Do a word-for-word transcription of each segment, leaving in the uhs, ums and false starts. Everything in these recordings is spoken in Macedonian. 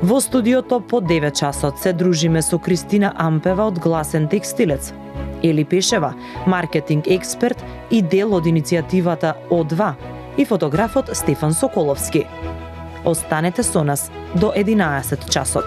Во студиото по девет часот се дружиме со Кристина Ампева од Гласен текстилец, Ели Пешева, маркетинг експерт и дел од иницијативата О два, и фотографот Стефан Соколовски. Останете со нас до единаесет часот.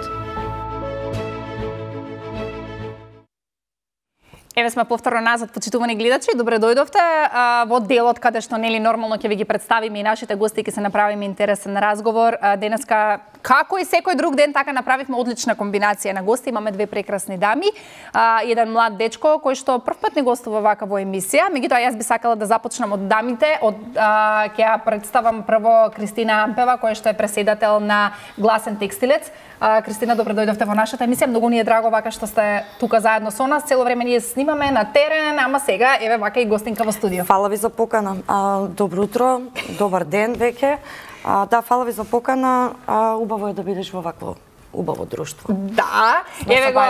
Еве сме повторно назад, почитувани гледачи, добре дојдовте а, во делот каде што нели нормално ќе ви ги представиме и нашите гости, ќе се направиме интересен разговор. А, денеска, како и секој друг ден, така направивме одлична комбинација на гости. Имаме две прекрасни дами, а, еден млад дечко кој што првпат не гостува вака во емисија. Меѓутоа јас би сакала да започнам од дамите. Од а, ќе ја представам прво Кристина Ампева, која што е преседател на Гласен текстилец. А, Кристина, добре дојдовте во нашата емисија. Многу ни е драго вака што сте тука заедно со нас. Цело време ние снимаме на терен, ама сега еве вака и гостинка во студио. Фала ви за покана. А, добро утро, добар ден веќе. А, да, фала ви за покана. А, убаво е да бидеш во вакво убаво друштво. Да, еве го.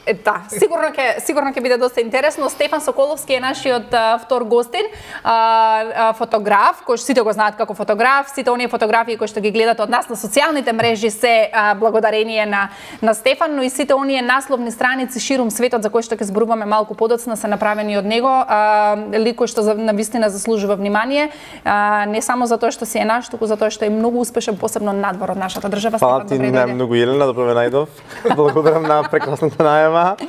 Е, да, сигурно ќе сигурно ќе биде доста интересно. Стефан Соколовски е нашиот а, втор гостин, а, а, фотограф, кој сите го знаат како фотограф. Сите оние фотографии кои што ги гледате од нас на социјалните мрежи се а, благодарение на на Стефан, но и сите оние насловни страници ширум светот за кои што ќе зборуваме малку подоцна се направени од него. А, лик кој што за, навистина заслужува внимание, а, не само затоа што си е наш, туку затоа што е многу успешен посебно надвор од нашата држава. Фала ти најмногу, Елена, добро ме најдов. Благодарам на прекрасната најава.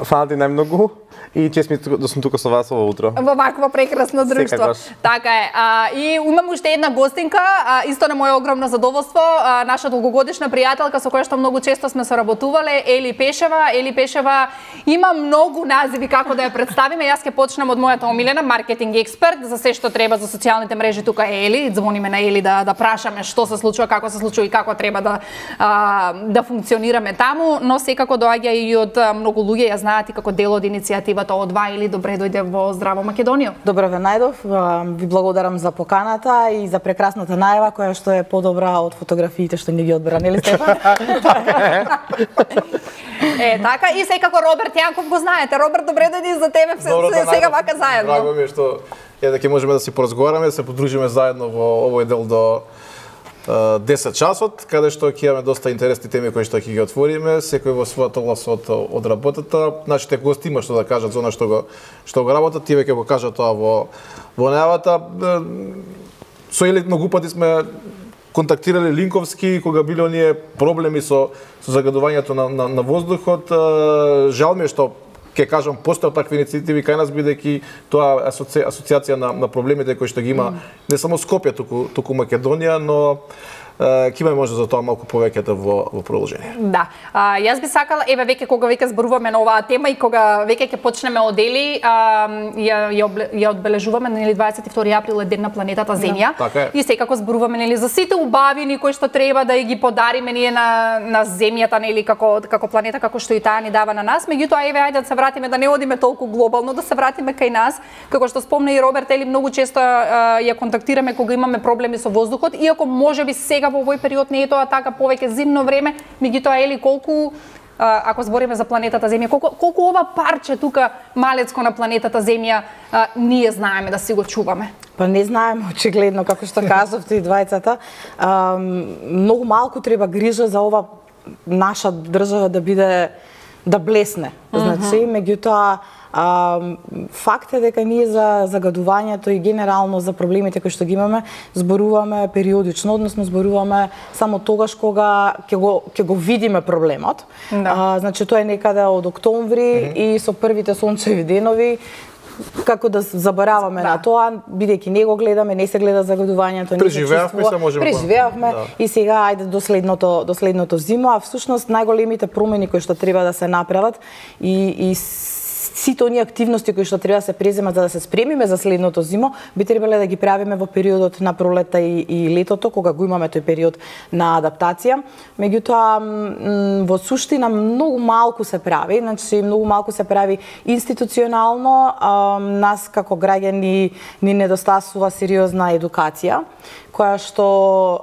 Фала ти најмногу и чест ми да сум тука со вас ово утро. Во вакво прекрасно друштво. Така е. А, и имам уште една гостинка, а, исто на моје огромно задоволство, а, наша долгогодишна пријателка со која што многу често сме соработувале, Ели Пешева. Ели Пешева има многу називи како да ја представиме. Јас ќе почнам од мојата омилена, маркетинг експерт, за се што треба за социјалните мрежи тука е Ели. Звониме на Ели да да прашаме што се случува, како се случува и како треба да а, да функционираме таму, но секако доаѓа и од многу луѓе, ја знаат и како дел од иницијативата О два или добре дојде во Здраво Македонија. Добро ве најдов, ви благодарам за поканата и за прекрасната најава која што е подобра од фотографиите што ни ги одбра, нели Стефан? Е, така и секако Роберт Јанков го знаете. Роберт, добре дојди за тебе сега вака заедно. Драго ми е што е дека можеме да си поразговараме, да се подружиме заедно во овој дел до десет часот, каде што ќе имаме доста интересни теми кои што ќе ги отвориме, секој во својата област од, од работата. Нашите гости има што да кажат за она што го што го работат, тие ќе го кажат тоа во во најавата. Со Ели многу пати сме контактирале линковски кога биле оние проблеми со со загадувањето на на, на воздухот. Жал ми е што ќе кажам постојат такви иницијативи кај нас, бидејќи тоа асоци... асоцијација на, на проблемите кои што ги има mm. не само Скопје, туку, туку Македонија, но ќе имаме може за тоа малку повеќе во, во продолжение. Да. А, јас би сакала, еве веќе кога веќе зборуваме на оваа тема и кога веќе ќе почнеме од Ели, ја, ја, ја одбележуваме нели дваесет и втори април е ден на планетата Земја. Да, така е. И секако зборуваме нели за сите убавини кои што треба да ги подариме ние на на Земјата нели како како планета како што и таа ни дава на нас. Меѓутоа еве ајде да се вратиме, да не одиме толку глобално, да се вратиме кај нас. Како што спомна и Роберт, Ели многу често а, ја контактираме кога имаме проблеми со воздухот, иако можеби сега во овој период не е тоа така, повеќе зимно време, меѓутоа Ели колку ако збориме за планетата Земја, колку колку ова парче тука малецко на планетата Земја а, ние знаеме да си го чуваме? Па не знаеме очигледно, како што кажавте и двајцата. А, многу малку треба грижа за ова наша држава да биде да блесне. Значи, меѓутоа А, факт е дека ние за загадувањето и генерално за проблемите кои што ги имаме зборуваме периодично, односно зборуваме само тогаш кога ќе го ќе го видиме проблемот. Да. А, значи тоа е некаде од октомври mm -hmm. и со првите сончеви денови како да забораваме да. на тоа, бидејќи не го гледаме, не се гледа загадувањето, не се чувствува. Преживеавме да. и сега ајде до следното до следното зимо, а всушност најголемите промени кои што треба да се направат и и сите оние активности кои што треба да се преземат за да се спремиме за следното зимо, би требале да ги правиме во периодот на пролетта и, и летото, кога го имаме тој период на адаптација. Меѓутоа, во суштина многу малку се прави, значи многу малку се прави институционално, а, нас како граѓани ни недостасува сериозна едукација, која што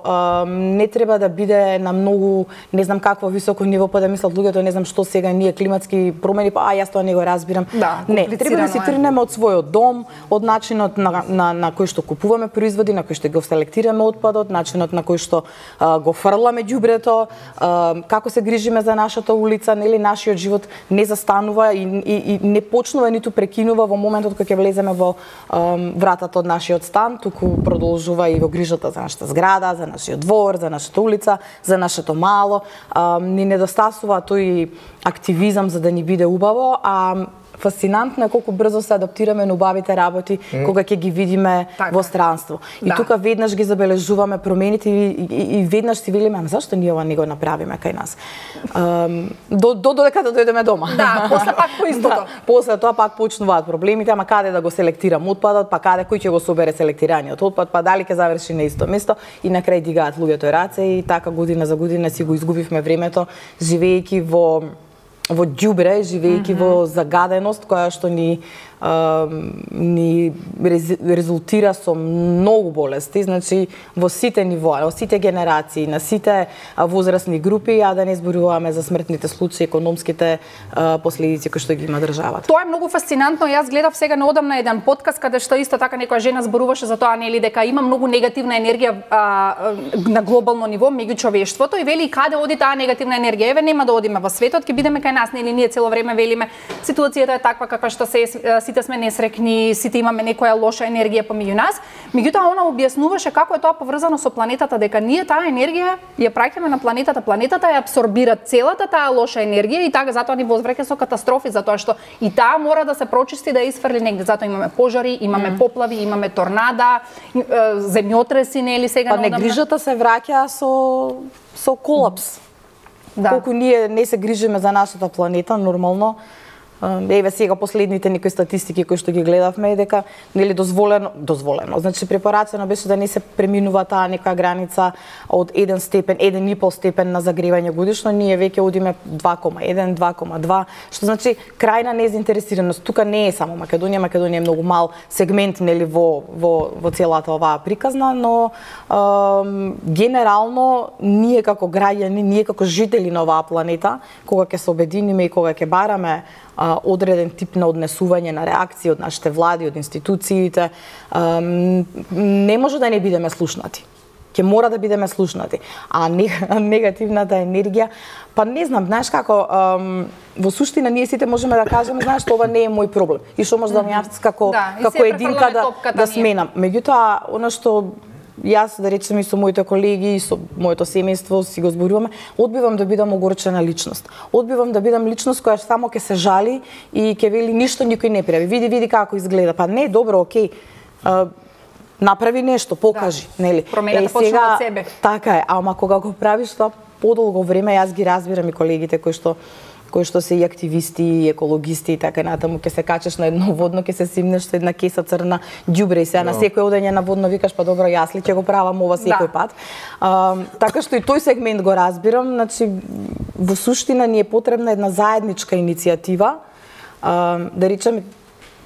а, не треба да биде на многу, не знам какво високо ниво, па да мислат луѓето, не знам што сега ние климатски промени, па а јас тоа не го разбирам. Да, не, треба да си тргнеме од својот дом, од начинот на, на, на кој што купуваме производи, на кој што го селектираме отпадот, начинот на кој што а, го фрламе ѓубрето, а, како се грижиме за нашата улица, нели нашиот живот не застанува и, и, и не почнува ниту прекинува во моментот кога ќе влеземе во а, вратата од нашиот стан, туку продолжува и во грижата за нашата зграда, за нашиот двор, за нашата улица, за нашето мало. А, ни недостасува тој активизам за да ни биде убаво, а фасцинантно е колку брзо се адаптираме на убавите работи mm. кога ќе ги видиме така во странство. И да. Тука веднаш ги забележуваме промените и, и, и веднаш си велиме, ама зашто ние ова не го направиме кај нас? Um, до, до додека да дојдеме дома. Да, после пак по истото. Да, после тоа пак почнуваат проблемите, ама каде да го селектирам отпадот, па каде кој ќе го собере селектираниот отпад, па дали ќе заврши на исто место и на крај дигаат луѓето раце и така година за година си го изгубивме времето живеејќи во во ѓубре, живеејќи mm -hmm. во загаденост која што ни а, ни рез, резултира со многу болести, значи во сите нивоа, во сите генерации, на сите а, возрастни групи, а да не зборуваме за смртните случаи, економските а, последици кои што ги има државата. Тоа е многу фасцинантно. Јас гледав сега неодамна еден подкаст каде што исто така некоја жена зборуваше за тоа, нели, дека има многу негативна енергија а, на глобално ниво меѓу човештвото и вели каде оди таа негативна енергија. Еве нема да одиме во светот, ќе бидеме кај нас, нели ние цело време велиме ситуацијата е таква каква што се, сите сме несрекни, сите имаме некоја лоша енергија помеѓу нас. Меѓутоа она објаснуваше како е тоа поврзано со планетата, дека ние таа енергија ја праќаме на планетата, планетата ја абсорбира целата таа лоша енергија и така затоа ни возвраќа со катастрофи, затоа што и таа мора да се прочисти, да изфрли негде. Затоа имаме пожари, имаме mm. поплави, имаме торнада, земјотреси, нели сега па негрижата се враќа со со колапс. Да. Колку ние не се грижиме за нашата планета, нормално, еве сега последните некои статистики кои што ги гледавме е дека нели дозволено, дозволено, значи препорачено беше да не се преминува таа некоја граница од еден степен, еден и пол степен на загревање годишно, ние веќе одиме два кома еден, два кома два, што значи крајна незаинтересираност. Тука не е само Македонија, Македонија е многу мал сегмент нели во во во целата оваа приказна, но ем, генерално ние како граѓани, ние како жители на оваа планета, кога ќе се обединиме и кога ќе бараме а, одреден тип на однесување на реакции од нашите влади, од институциите, а, не може да не бидеме слушнати. Ќе мора да бидеме слушнати. А негативната енергија, па не знам, знаеш како, ам, во суштина ние сите можеме да кажеме, знаеш што ова не е мој проблем. И што може да ми јас како да, како единка да да сменам. Меѓутоа, она што јас, да речем, и со моите колеги, и со моето семејство си го зборуваме, одбивам да бидам огорчена личност. Одбивам да бидам личност која само ќе се жали и ќе вели ништо никој не прави. Види, види како изгледа. Па не, добро, окей. А, направи нешто, покажи, да. Нели? Промената почнува од себе. Така е, ама кога го правиш тоа подолго време, јас ги разбирам и колегите кои што кои што се и активисти, и екологисти и така натаму, ќе се качеш на едно водно, ќе се симнеш со една кеса црна ѓубре и сега no. на секој одење на водно викаш, па добро, јас ли ќе го правам ова секој да. Пат. А, така што и тој сегмент го разбирам, значи во суштина ни е потребна една заедничка иницијатива, а, да речеме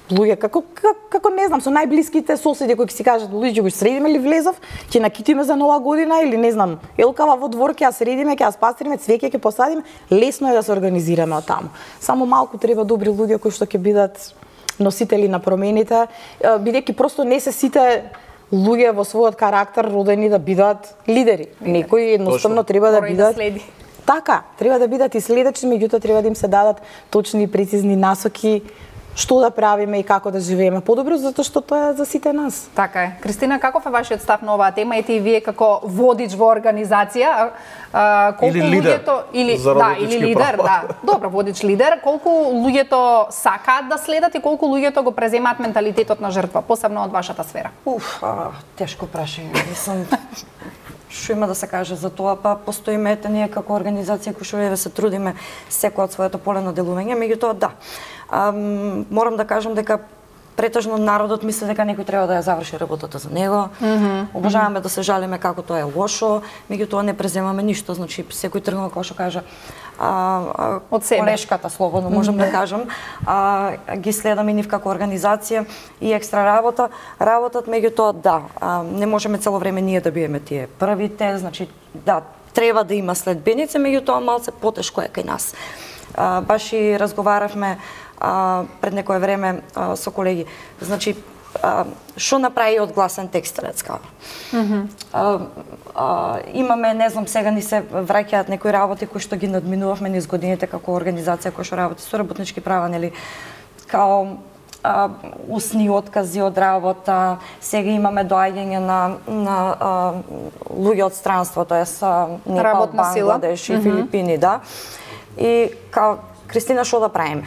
луѓе, како, како, како не знам, со најблиските соседи кои ќе си кажат, луѓе, го средиме ли влезов, ќе накитиме за нова година или не знам, елкава во двор ќе ја средиме, ќе ја спастриме, цвеќе ќе посадиме, лесно е да се организираме од таму. Само малку треба добри луѓе кои што ќе бидат носители на промените, бидејќи просто не се сите луѓе во својот карактер родени да бидат лидери. Некои едноставно треба да бидат да така, треба да бидат и следечни, меѓутоа треба да им се дадат точни и прецизни насоки што да правиме и како да живееме подобро, затоа што тоа е за сите нас. Така е. Кристина, каков е вашиот став на оваа тема? Ете и вие како водич во организација, а, колку или лидер, луѓето или да, или лидер, права. Да. Добро, водич лидер, колку луѓето сакаат да следат и колку луѓето го преземаат менталитетот на жртва, посебно од вашата сфера? Уф, а, тешко прашање. Мислам, што има да се каже за тоа, па постоиме ете ние како организација кои што еве се трудиме секој од своето поле на делување, меѓутоа да. А, морам да кажам дека претежно народот мисли дека некој треба да ја заврши работата за него. Mm -hmm. Обожаваме да се жалиме како тоа е лошо, меѓутоа не преземаме ништо, значи секој тргнува како што кажа а, а, од себе. Колешката, слободно можам mm -hmm. да кажам, а, ги следаме нив како организација и екстра работа, работат, меѓутоа да, а, не можеме цело време ние да биеме тие првите, значи да, треба да има следбеници, меѓутоа малце потешко е кај нас. а, баш и разговаравме а, пред некое време а, со колеги. Значи, а, што направи одгласен текстилец као? Mm -hmm. а, а, имаме, не знам, сега ни се враќаат некои работи кои што ги надминувавме низ годините како организација која што работи со работнички права, нели? Као а, усни откази од работа, сега имаме доаѓање на, на а, луѓе од странство, тоест Непал, Бангладеш и mm -hmm. Филипини, да. И као, Кристина, што да правиме?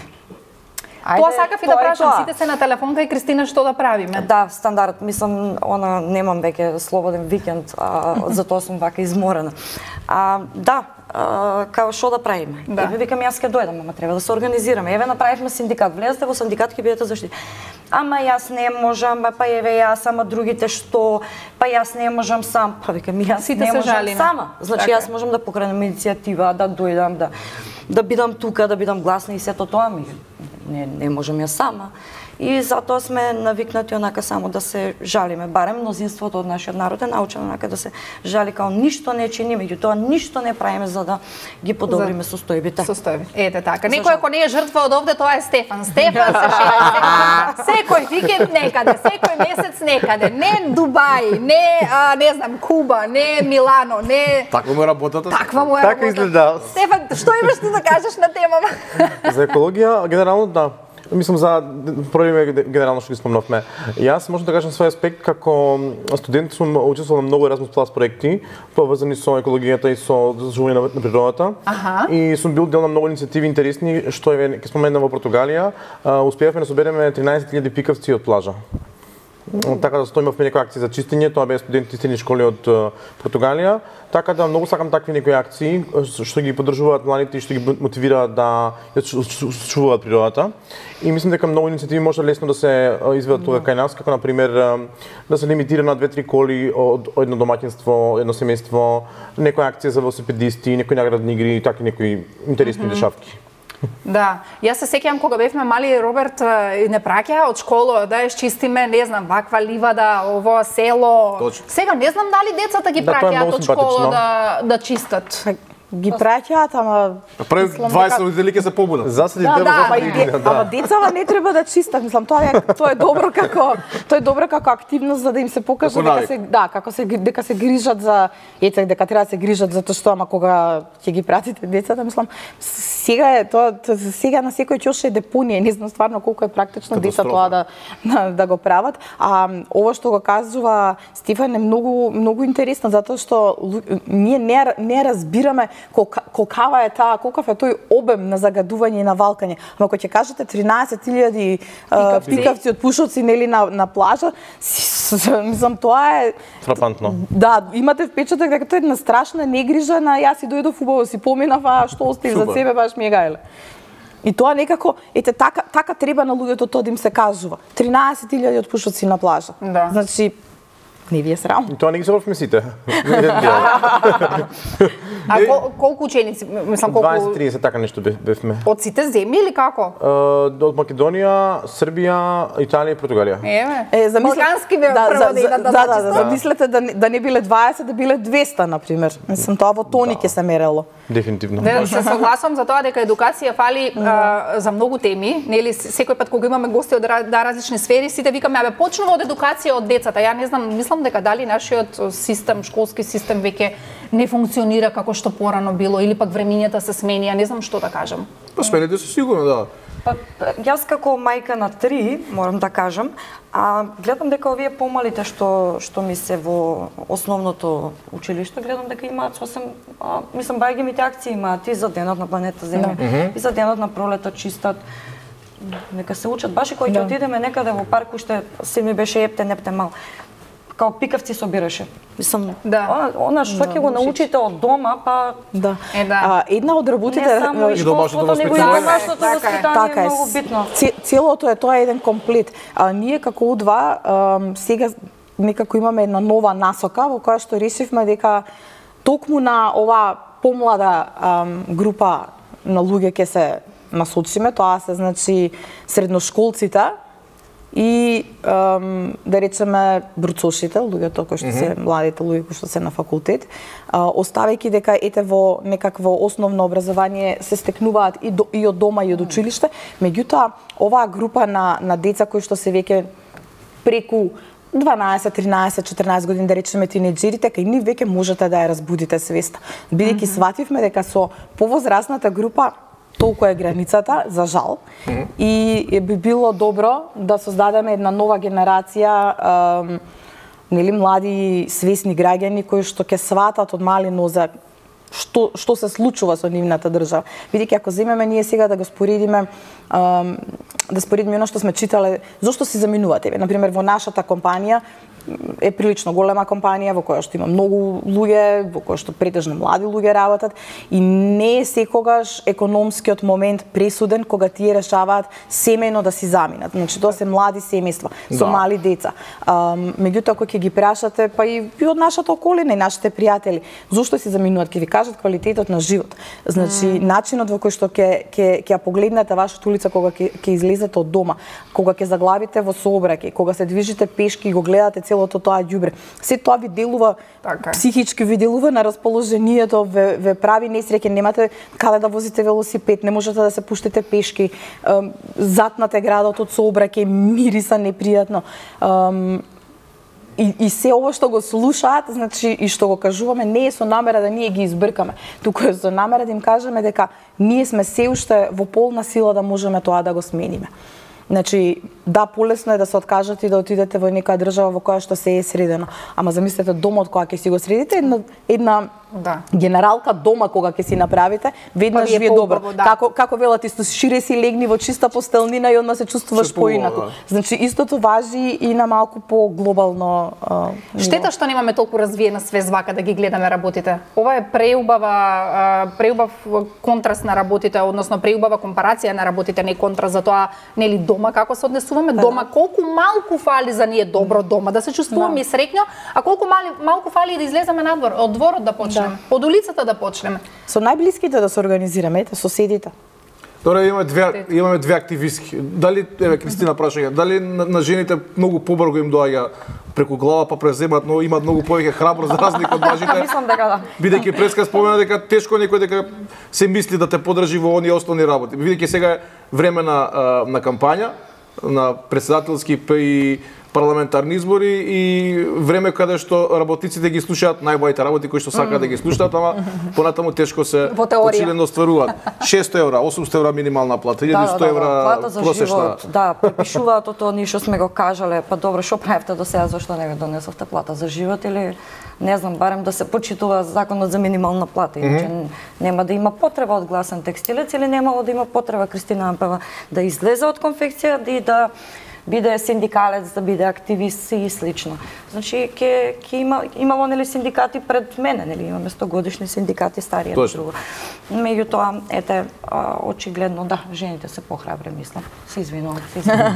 Ајде, тоа сакав и да прашам, сите се на телефонка и Кристина, што да правиме? Да, стандард, мислам, она немам веќе слободен викенд, а, затоа сум вака изморена. А, да, а, као што да правиме? Да. Еве викам, јас ќе дојдам, ама треба да се организираме. Еве направивме синдикат, влезете во синдикат, ќе бидете заштити. Ама јас не можам, па еве јас, ама другите што, па јас не можам сам. Па викам, јас сите не можам жалиме. Сама. Значи така. Јас можам да покренем иницијатива, да дојдам, да да бидам тука, да бидам гласна и сето тоа ми. Не, не можам ја сама. И затоа сме навикнати онака само да се жалиме. Барем мнозинството од нашиот народ е научено онака да се жали као ништо не чини, меѓутоа ништо не правиме за да ги подобриме состојбите. Состојби. Ете така. Некој ако не е жртва од овде, тоа е Стефан. Стефан се шеја секој викенд некаде, секој месец некаде. Не Дубај, не а, не знам Куба, не Милано, не Таква му е работата. Таква му е Така изгледа. Стефан, што имаш ти да кажеш на темава? За екологија, генерално да. Мислам за проблеми генерално што ги спомнавме. Јас можам да кажам свој аспект како студент сум учествувал на многу Erasmus Plus проекти поврзани со екологијата и со заживување на, на природата. Аха. И сум бил дел на многу иницијативи интересни што е ќе споменам во Португалија. Успеавме да собереме тринаесет илјади пикавци од плажа. Така да стоимавме некои акции за чистење, тоа беа студенти средни школи од Португалија. Така да многу сакам такви некои акции што ги поддржуваат младите и што ги мотивираат да чуваат природата. И мислам дека многу иницијативи може лесно да се изведат тука кај нас, како на пример да се лимитира на две-три коли од едно домаќинство, едно семејство, некоја акција за велосипедисти, некои наградни игри, такви некои интересни mm-hmm. дешавки. Да, јас се сеќавам кога бевме мали, Роберт не праќа од школа да ја чистиме, не знам, ваква ливада, ово село. Точно. Сега не знам дали децата ги да, праќаат од школа да да чистат. Ги праќаат, ама Пред дваесет родители ќе се побунат. Заседи Да, дел да, за Ама, и де, ама децава не треба да чистат, мислам, тоа е тоа е добро како тоа е добро како активност за да им се покаже Како дека навик. се да, како се дека се грижат за ете дека треба да се грижат за тоа што ама кога ќе ги пратите децата, мислам, сега е тоа сега на секој ќош е депонија, не знам стварно колку е практично деца тоа да, да да го прават. А ова што го кажува Стефан е многу многу интересно затоа што ние не не разбираме колка колкава е таа, колкав е тој обем на загадување и на валкање. Ама кога ќе кажете тринаесет илјади пикавци. пикавци од пушоци нели на на плажа, мислам тоа е фрапантно. Да, имате впечаток дека тоа е една страшна негрижа на јас и дојдов убаво си поминав, а што остави за себе баш ми е гајле. И тоа некако, ете така така треба на луѓето тоа да им се кажува. тринаесет илјади од пушоци на плажа. Да. Значи не ви е срам. И тоа не ги се вмесите. А кол, колку ученици, мислам колку дваесет-триесет така нешто бевме. од сите земји или како? Од Македонија, Србија, Италија и Португалија. Еве. Е, замисли... Балкански бе да, прво за, да за, идат да да, да, зачистат. да, замислете да, не- да не биле дваесет, да биле двеста, например. Мислам, тоа во тони ќе се мерело. Дефинитивно. Не, се согласувам за тоа дека едукација фали а, за многу теми, нели секој пат кога имаме гости од ра- да, различни сфери, сите викаме абе почнува од едукација од децата. Ја не знам, мислам дека дали нашиот систем, школски систем веќе не функционира како што порано било или пак времињата се смени, ја не знам што да кажам. Па смените се сигурно, да. Па, јас како мајка на три, морам да кажам, а гледам дека овие помалите што што ми се во основното училиште, гледам дека имаат сосем, а, мислам бај ги мите акции имаат и за денот на планета Земја, Да. и за денот на пролета чистат. Нека се учат, баш и кој ќе Да. отидеме некаде во парк, уште си ми беше епте непте мал. Као пикавци собираше. Мислам, Да. о, она што ќе го научите од дома, па Да. Е, да. А, една од работите не само и И домашното школството, него и воспитание. домашното Така е, воспитание Така е е. многу битно. Ц- Целото е тоа е еден комплет. А, ние како У два ам, сега некако имаме една нова насока во која што решивме дека токму на ова помлада ам, група на луѓе ќе се насочиме, тоа се значи средношколците и ем, да речеме бруцошите, луѓето кои што се младите луѓе кои што се на факултет, оставајќи дека ете во некакво основно образование се стекнуваат и, до, и од дома и од училиште, меѓутоа оваа група на на деца кои што се веќе преку дванаесет, тринаесет, четиринаесет години, да речеме тинеџерите, кај нив веќе можете да ја разбудите свеста. Бидејќи свативме дека со повозрасната група толку е границата, за жал, mm-hmm. и би било добро да создадеме една нова генерација ем, нели млади свесни граѓани кои што ќе сватат од мали нозе што што се случува со нивната држава. Бидејќи ако земеме ние сега да го споредиме ем, да споредиме оно што сме читале, зошто се заминувате? На пример во нашата компанија е прилично голема компанија во која што има многу луѓе, во која што претежно млади луѓе работат и не е секогаш економскиот момент пресуден кога тие решаваат семејно да си заминат. Значи тоа се млади семејства со да. мали деца. Um, меѓутоа кога ќе ги прашате, па и, и од нашата околина и нашите пријатели, зошто си заминуваат, ќе ви кажат квалитетот на живот. Значи mm. начинот во кој што ќе ќе ќе ја погледнете вашата улица кога ќе ќе излезете од дома, кога ќе заглавите во сообраќај, кога се движите пешки и го гледате целото тоа ѓубре. Се тоа ви делува така. Психички ви делува на расположението, ве, ве прави несреќен, немате каде да возите велосипед, не можете да се пуштите пешки, ем, затнате градот од сообраќај, мириса непријатно. Ем, И, и се ово што го слушаат, значи и што го кажуваме, не е со намера да ние ги избркаме, туку е со намера да им кажеме дека ние сме се уште во полна сила да можеме тоа да го смениме. Значи, да, полесно е да се откажете и да отидете во некоја држава во која што се е средено. Ама замислете домот кога ќе си го средите, една, една да. генералка дома кога ќе си направите, веднаш ви е добро. Да. Како како велат исто шире си легни во чиста постелнина и одма се чувствуваш поинаку. Да. Значи истото важи и на малку поглобално ниво. Штета што немаме толку развиена свест вака да ги гледаме работите. Ова е преубава преубав контраст на работите, односно преубава компарација на работите, не контраст за тоа нели дома како се однесуваме, дома колку малку фали за ние добро дома, да се чувствуваме да. среќно, а колку мали, малку фали да излеземе надвор, од дворот да почнеме. Да. Од улицата да почнеме. Со најблиските да се организираме, ете, соседите. Добре, имаме две имаме две активистки. Дали еве Кристина прашање, дали на, на жените многу побрзо им доаѓа преку глава па преземат, но имаат многу повеќе храброст за разлика од мажите. Мислам дека да. Бидејќи преска спомена дека тешко некој дека се мисли да те подржи во оние основни работи. Бидејќи сега е време на на кампања, на претседателски и парламентарни избори и време каде што работниците ги слушаат најбоите работи кои што сакаат да ги слушаат, ама понатаму тешко се почилено остваруваат. шестоста евра, осумстотини евра минимална плата, илјаду и сто евра просечна. Да, препишуваат тоа ние што сме го кажале, па добро, што правевте до сега, зашто не го донесовте плата за живот или не знам, барем да се почитува законот за минимална плата, иначе mm -hmm. нема да има потреба од гласен текстилец или немало да има потреба Кристина Ампева да излезе од конфекција и да биде синдикалец, да биде активист и слично. Значи ќе ќе има имало нели синдикати пред мене, нели имаме сто годишни синдикати стари едно друго. Меѓутоа, ете, очигледно да, жените се похрабри, мислам. Се извинувам, се извинувам.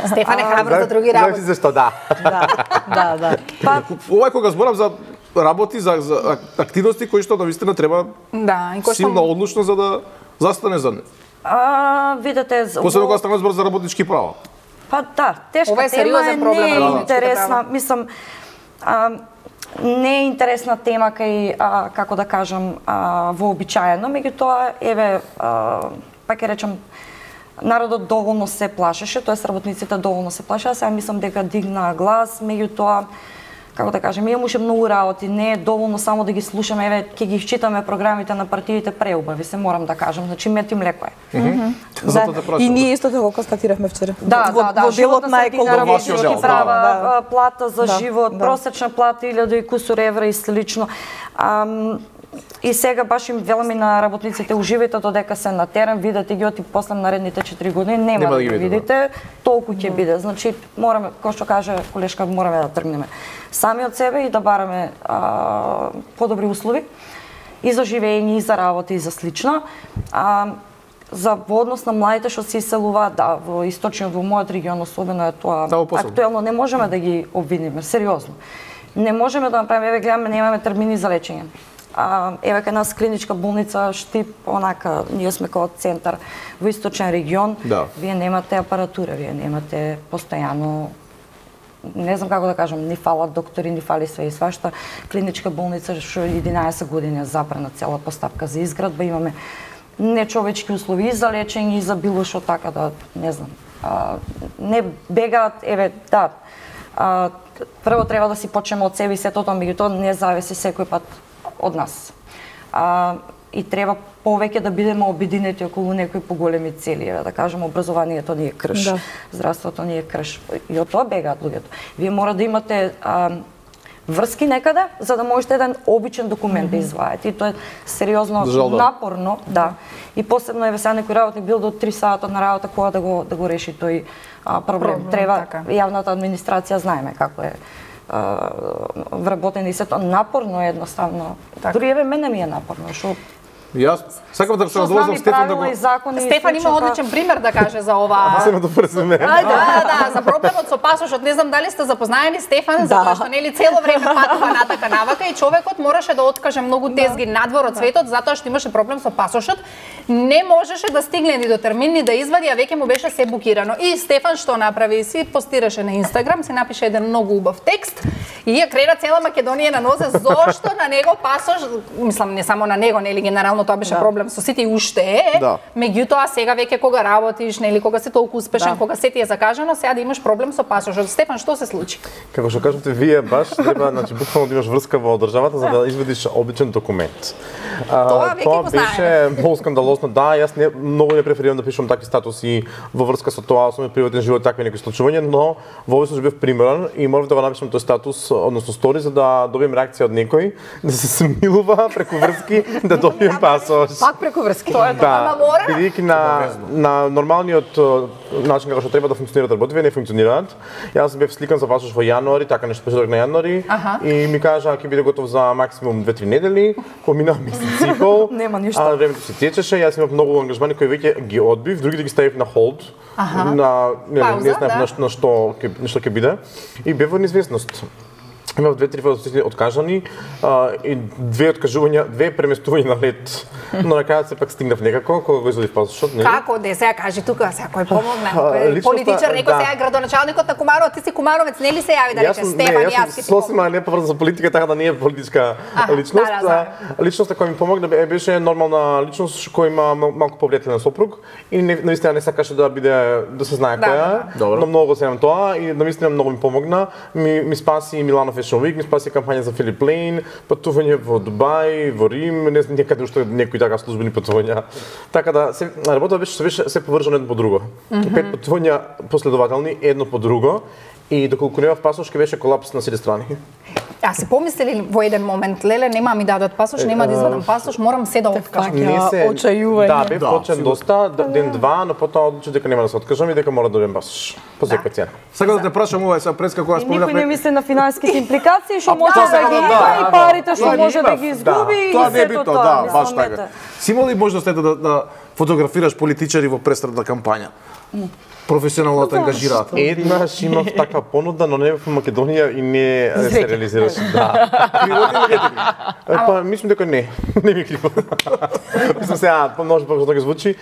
Стефан е храбро за други работи. Знаеш зашто да. Да, да, да. Па, ова кога зборам за работи, за, за активности кои што навистина треба да, и кој силно одлучно за да застане за нив. А, видете, посебно кога станува збор за работнички права. Па да, тешка е тема е, проблем, не е да, интересна, мислам, а, не е интересна тема кај, а, како да кажам, а, вообичаено, меѓутоа, еве, а, па ќе речам, народот доволно се плашеше, тоест работниците доволно се плашеа, сега мислам дека дигна глас, меѓутоа, како да кажем, имаше многу работи, не е доволно само да ги слушаме, еве, ќе ги читаме програмите на партиите преубави, се морам да кажам, значи мет им леко е. Mm -hmm. Да. Да, и ние истото го констатиравме вчера. Да, во, да, да, во делот на екологички права, да. плата за да, живот, да. просечна плата илјаду и кусур евра и слично. Ам, И сега баш им веламе на работниците, уживајте додека се на терен, видете ги оти после наредните четири години, нема, нема да ги видите, толку ќе да. биде. Значи, мораме, кој што каже колешка, мораме да тргнеме сами од себе и да бараме а, подобри услови и за живење, и за работа, и за слично. А, за во однос на младите што се иселуваат, да, во источниот, во мојот регион особено е тоа да, актуелно, не можеме да ги обвиниме, сериозно. Не можеме да направиме, еве гледаме, немаме термини за лечење. А, еве кај нас клиничка болница Штип, онака, ние сме како центар во источен регион. Да. Вие немате апаратура, вие немате постојано, не знам како да кажам, ни фалат доктори, ни фали све и свашта. Клиничка болница што единаесет години е забрана цела постапка за изградба, имаме нечовечки услови и за лечење и за било што, така да, не знам. А, не бегаат, еве, да, а, прво треба да си почнеме од себе и сето тоа, меѓутоа не зависи секој пат од нас. А, и треба повеќе да бидеме обединети околу некои поголеми цели, еве да кажеме образованието ни е крш, да. Здравството ни е крш. И од тоа бегаат луѓето. Вие мора да имате а, врски некаде за да можете еден обичен документ mm-hmm. да извадите. И тоа е сериозно Жалба. напорно, да. И посебно еве сега некој работник бил до три сата на работа кога да го да го реши тој а, проблем. проблем. Треба така. Јавната администрација знаеме како е а, вработен и сето напорно е едноставно. Така. Дури еве мене ми е напорно, што Јас сакам да се надвозам Стефан да го Стефан има одличен пример да каже за ова. Само да преземе. Да, да, за проблемот со пасошот, не знам дали сте запознаени Стефан, затоа што нели цело време патува натака навака и човекот мораше да откаже многу тезги надвор од светот затоа што имаше проблем со пасошот. Не можеше да стигне ни до термин ни да извади, а веќе му беше се букирано. И Стефан што направи? Си постираше на Инстаграм, се напише еден многу убав текст и ја крена цела Македонија на нозе зошто на него пасош, мислам не само на него, нели генерално тоа беше да. проблем со сите и уште е. Да. Меѓутоа сега веќе кога работиш, нели кога си толку успешен, да. кога се ти е закажано, сега да имаш проблем со пасошот. Стефан, што се случи? Како што кажете вие баш треба значи буквално да имаш врска во државата за да извадиш обичен документ. А, тоа веќе тоа го беше многу скандалосно. Да, јас не многу не преферирам да пишувам такви статуси во врска со тоа, со мојот приватен живот, такви некои случувања, но во овој случај бев примерен и морав да го напишам тој статус, односно стори за да добием реакција од некој, да се смилува преку врски да добием пасош. Пак преку врски. Тоа е тоа мора. Бидејќи на на нормалниот начин како што треба да функционираат работите, не функционираат. Јас бев сликан за пасош во јануари, така нешто почеток на јануари и ми кажа ќе биде готов за максимум две-три недели, помина месец и пол. Нема ништо. А времето се течеше, јас имав многу ангажмани кои веќе ги одбив, другите ги ставив на холд. На не, не знаев на, на што ќе нешто ќе биде и бев во неизвестност. Имав две-три фотосесии откажани а, и две откажувања, две преместувања на лет. Но на крајот се пак стигнав некако кога го извадив пасошот, нели? Како де сега кажи тука, сега кој помогна? Кој политичар, некој сега е градоначалникот на Кумаров, ти си Кумаровец, нели се јави да рече Стефан, јас ќе ти помогнам. Сосема не поврзан за политика, така да не е политичка личност. Да, да, личноста која ми помогна беше нормална личност која има малку повлијателен сопруг и не навистина не сакаше да биде да се знае која е. Но многу се тоа и навистина многу ми помогна. Ми, ми спаси Милано Fashion Week, ми спаси кампања за Филип Лейн, патување во Дубај, во Рим, не знам некаде уште некои така службени патувања. Така да се работата беше се беше се поврзано едно по друго. Mm -hmm. Пет патувања последователни едно по друго и доколку немав пасош ќе беше колапс на сите страни. А се помислили во еден момент, леле, нема ми дадат пасош, нема да извадам пасош, морам се да откажам. Не се очајување. Да, бев почен доста, ден два, но потоа одлучив дека нема да се откажам и дека мора да добием пасош. По секоја цена. Сакам да те прашам ова сега преска кога спомнавме. Никој не мисли на финансиските импликации, што може да ги има и парите што може да ги изгуби и сето тоа. Да, баш така. Си имал ли можност ете да, да фотографираш политичари во пресредна кампања? Професионално да ангажираат. Еднаш имав таква понуда, но не во Македонија и не се реализираше. Да. Криво или не? Па мислам дека не. Не ми криво. Мислам сега, може па да звучи.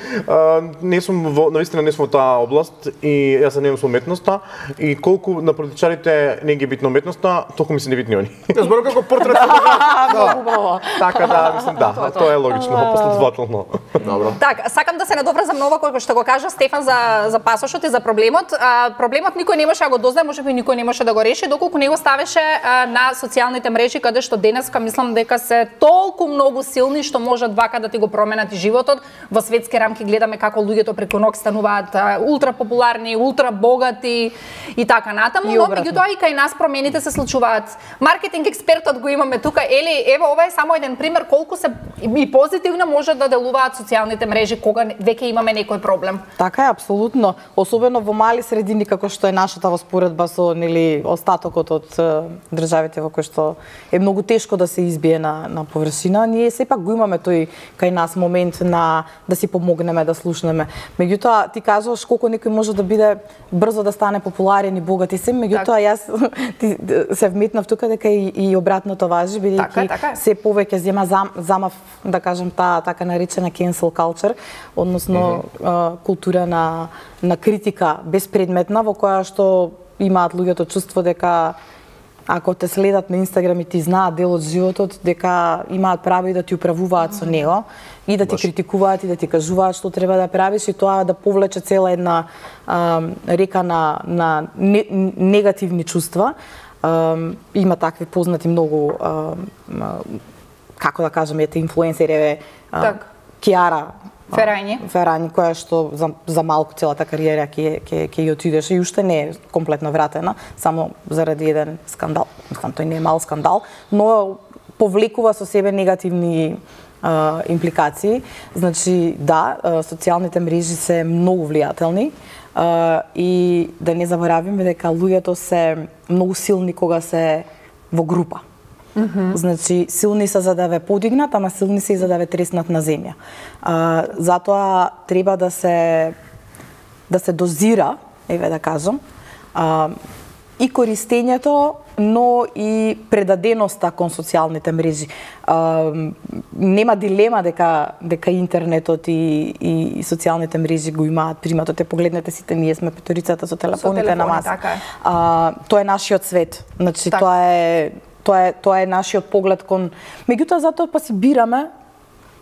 Не сум во навистина не сум во таа област и јас се немам со уметноста и колку на политичарите не ги битна уметноста, толку ми се не битни они. Јас зборам како портрет. Да. Така да, мислам да, тоа е логично, последователно. Добро. Така, сакам да се надоврзам на ова кој што го кажа Стефан за за пасош и за проблемот. А, проблемот никој не можеше да го дознае, можеби никој не можеше да го реши, доколку не го ставеше а, на социјалните мрежи, каде што денеска мислам дека се толку многу силни што можат вака да ти го променат и животот. Во светски рамки гледаме како луѓето преку ног стануваат ултра популарни, ултра богати и така натаму, но меѓутоа и кај нас промените се случуваат. Маркетинг експертот го имаме тука. Ели, ево ова е само еден пример колку се и позитивно можат да делуваат социјалните мрежи. мрежи кога веќе имаме некој проблем. Така е, апсолутно. Особено во мали средини како што е нашата во споредба со нели остатокот од државите во кои што е многу тешко да се избие на на површина, ние сепак го имаме тој кај нас момент на да си помогнеме, да слушнеме. Меѓутоа ти кажуваш колку некој може да биде брзо да стане популарен и богат и се, меѓутоа јас ти, се вметнав тука дека и, и обратното важи, бидејќи така, така. се повеќе зема зам, замав, да кажем, таа така наречена cancel culture, односно mm -hmm. култура на на критика безпредметна во која што имаат луѓето чувство дека ако те следат на Инстаграм и ти знаат дел од животот, дека имаат право и да ти управуваат со него и да ти Баш. критикуваат и да ти кажуваат што треба да правиш и тоа да повлече цела една а, река на на не, негативни чувства. А, има такви познати многу а, а, како да кажеме, ете инфлуенсери, так. Киара Ферањи. Ферањи, која што за, за малку целата кариера ќе ќе ќе ја отидеше и уште не е комплетно вратена, само заради еден скандал. Мислам, тој не е мал скандал, но повлекува со себе негативни а, импликации. Значи, да, социјалните мрежи се многу влијателни а, и да не заборавиме дека луѓето се многу силни кога се во група. Mm -hmm. Значи, силни се за да ве подигнат, ама силни се и за да ве треснат на земја. А, затоа треба да се да се дозира, еве да кажам, а, и користењето, но и предаденоста кон социјалните мрежи. А, нема дилема дека дека интернетот и, и, и социјалните мрежи го имаат приматот. Те погледнете сите, ние сме петорицата со телефоните со на маса. Така е. А, тоа е нашиот свет. Значи, так. тоа е Тоа е, тоа е нашиот поглед кон... Меѓутоа, затоа па си бираме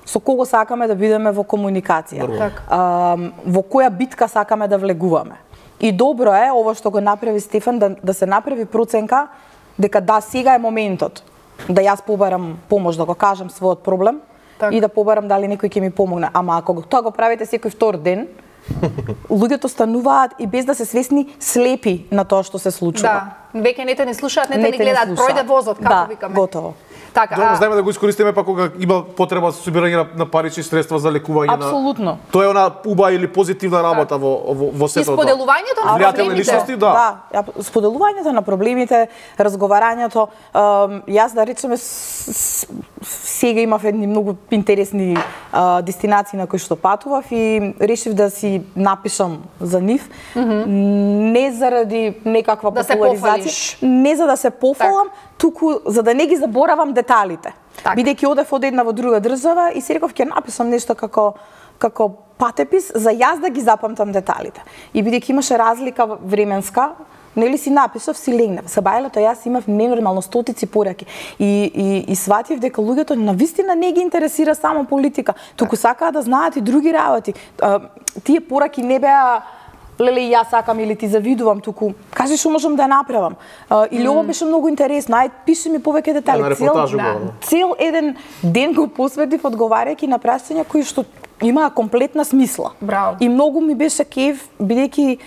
со кого сакаме да бидеме во комуникација. А, во која битка сакаме да влегуваме. И добро е, ово што го направи Стефан, да, да се направи проценка дека да, сега е моментот да јас побарам помош, да го кажам својот проблем так. И да побарам дали некој ќе ми помогне. Ама ако тоа го правите секој втор ден, луѓето стануваат и без да се свесни слепи на тоа што се случува. Да, веќе не те не слушаат, не те не гледаат, пројде возот, како да, викаме. Да, готово. Така, Добро, знаеме да го искористиме па кога има потреба за собирање на, на парични средства за лекување. Апсолутно. На... Тоа е она уба или позитивна работа во во во сето. И споделувањето на проблемите. Личности, да. Да, споделувањето на проблемите, разговарањето. Јас да речеме сега имав едни многу интересни а, дестинации на кои што патував и решив да си напишам за нив. Mm -hmm. Не заради некаква да популаризација, не за да се пофалам, так. Туку за да не ги заборавам деталите. Так. Бидејќи одев од една во друга држава и си реков ќе напишам нешто како како патепис за јас да ги запамтам деталите. И бидејќи имаше разлика временска, нели си напишав, си легнав. Со бајлето јас имав ненормално стотици пораки и и и сватив дека луѓето навистина не ги интересира само политика, туку сакаат да знаат и други работи. А, тие пораки не беа леле јас сакам или ти завидувам, туку кажи што можам да направам. А, или mm. ова беше многу интересно, ај пиши ми повеќе детали. Да, цел, да, цел еден ден го посветив одговарајќи на прашања кои што имаа комплетна смисла. Браво. И многу ми беше кеф, бидејќи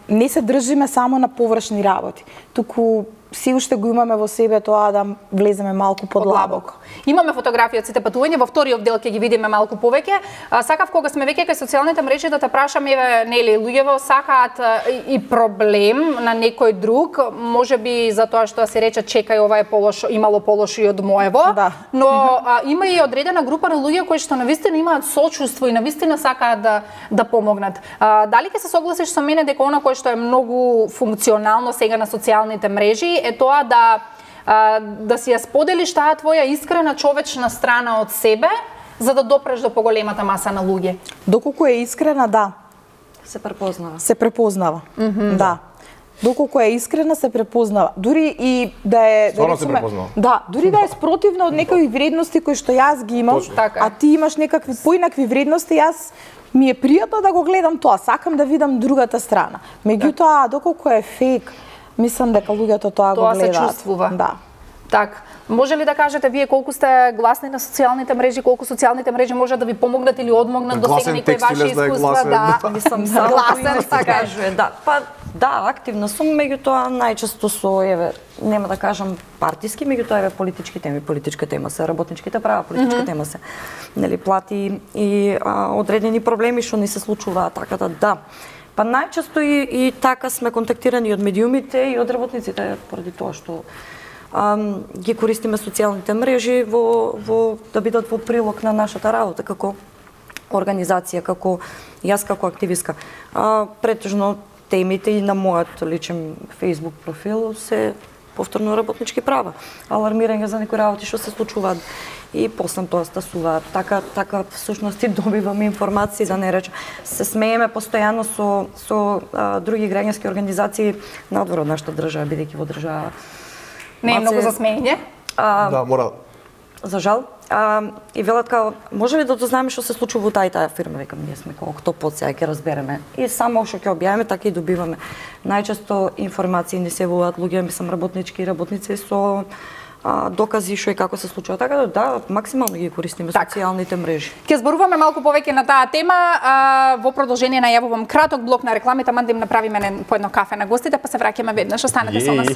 не се држиме само на површни работи, туку си уште го имаме во себе тоа да влеземе малку подлабоко. Имаме фотографии од сите патувања, во вториот дел ќе ги видиме малку повеќе. Сакав кога сме веќе кај социјалните мрежи да те прашам, еве, нели, луѓето сакаат и проблем на некој друг, можеби за тоа што се рече чекај, ова е полошо, имало полошо и од моево, да. Но а, има и одредена група на луѓе кои што навистина имаат сочувство и навистина сакаат да да помогнат. А, дали ќе се согласиш со мене дека она кое што е многу функционално сега на социјалните мрежи е тоа да да си ја споделиш таа твоја искрена човечна страна од себе за да допреш до поголемата маса на луѓе? Доколку е искрена, да. Се препознава. Се препознава, mm -hmm. Да. Доколку е искрена, се препознава. Дури и да е... Стварно да се препознава. Да, дури да е спротивно од некои вредности кои што јас ги имам, така. А ти имаш некакви поинакви вредности, јас ми е пријатно да го гледам тоа, сакам да видам другата страна. Меѓутоа, доколку е фейк, мислам дека луѓето тоа, тоа го гледаат. Тоа се чувствува. Да. Так, може ли да кажете вие колку сте гласни на социјалните мрежи, колку социјалните мрежи можат да ви помогнат или одмогнат до сега некои ваши искуства? Да, мислам, само гласен, така кажува. Да, па да, активна сум, меѓутоа најчесто со, еве, нема да кажам партиски, меѓутоа еве политички теми, политичка тема се работничките права, политичка mm -hmm. тема се, нели, плати и а, одредени проблеми што ни се случуваат, така да, да. Па најчесто и, и така сме контактирани од медиумите и од работниците, поради тоа што ам, ги користиме социјалните мрежи во, во, да бидат во прилог на нашата работа како организација, како јас како активистка. А, претежно темите и на мојот личен Facebook профил се повторно работнички права, алармирање за некои работи што се случуваат и после тоа стасува. Така, така всушност и добиваме информации, да не речем. Се смееме постојано со, со а, други граѓански организации надвор од нашата држава, бидејќи во држава. Не е многу за смеење? А, да, мора. За жал. А, и велат као, може ли да дознаеме што се случува во тај таа фирма? Викам, ние сме како кто под сега ќе разбереме. И само што ќе објавиме, така и добиваме. Најчесто информации не се воват луѓе, мислам работнички и работници со а, докази што и како се случува. Така да, да, максимално ги користиме так. Социјалните мрежи. Ќе зборуваме малку повеќе на таа тема. А, во продолжение најавувам краток блок на рекламите, ман да им направиме по едно кафе на гостите, па се враќаме веднаш. Останете со нас.